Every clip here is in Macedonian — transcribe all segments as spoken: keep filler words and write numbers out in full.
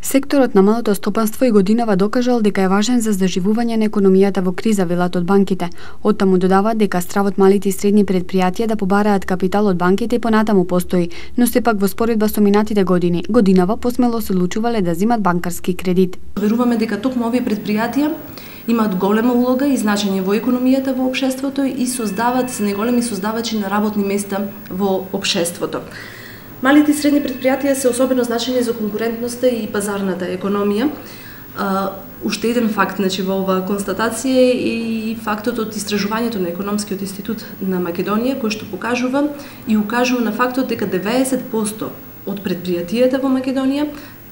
Секторот на малото стопанство и годинава докажал дека е важен за заживување на економијата во криза, велат од банките. Оттаму додаваат дека стравот малите и средни предпријатија да побараат капитал од банките и понатаму постои, но сепак во споредба со минатите години, годинава посмело се одлучувале да земат банкарски кредит. Веруваме дека токму овие предпријатија имаат голема улога и значење во економијата во општеството и создаваат се најголеми создавачи на работни места во општеството. Малите и средни предпријатија се особено значени за конкурентноста и пазарната економија. Uh, уште еден факт, значи, во оваа констатација е и фактот од истражувањето на Економскиот институт на Македонија, кој што покажува и укажува на фактот дека деветдесет проценти од предпријатијата во Македонија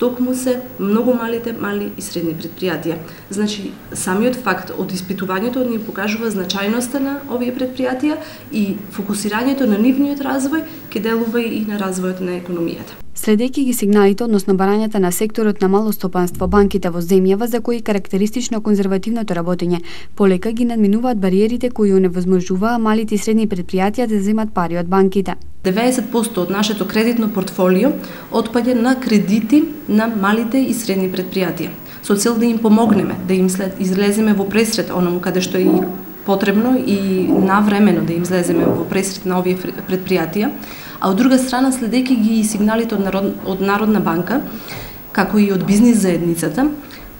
токму се многу малите, мали и средни предпријатија. Значи, самиот факт од испитувањето ни покажува значајноста на овие предпријатија и фокусирањето на нивниот развој ќе делува и на развојот на економијата. Следејќи ги сигналите односно барањата на секторот на мало стопанство, банките во земјава за кои карактеристично конзервативното работење, полека ги надминуваат бариерите кои оневозможуваа малите и средни предпријатија да земат пари од банките. деветдесет проценти од нашето кредитно портфолио отпаѓа на кредити на малите и средни предпријатија, со цел да им помогнеме, да им след излеземе во пресрет онаму каде што е и потребно и навремено да им излеземе во пресрет на овие предпријатија, а од друга страна следејќи ги сигналите од, народ, од Народна банка, како и од бизнис заедницата,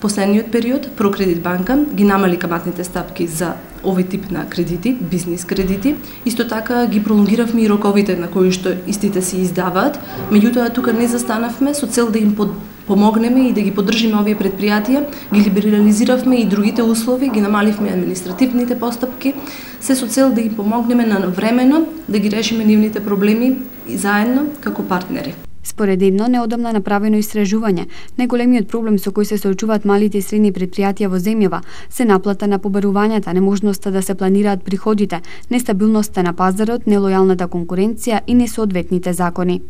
последниот период Прокредит банка ги намали каматните стапки за овој тип на кредити, бизнис кредити. Исто така ги пролонгиравме и роковите на кои што истите се издаваат, меѓутоа тука не застанавме со цел да им под помогнеме и да ги поддржиме овие предпријатија, ги либерализиравме и другите услови, ги намаливме административните постапки, се со цел да им помогнеме на времено да ги решиме нивните проблеми и заедно како партнери. Според едно неодамна направено истражување, најголемиот проблем со кој се соочуваат малите и средни предпријатија во земјава се наплата на побарувањата, неможноста да се планираат приходите, нестабилноста на пазарот, нелојалната конкуренција и несоодветните закони.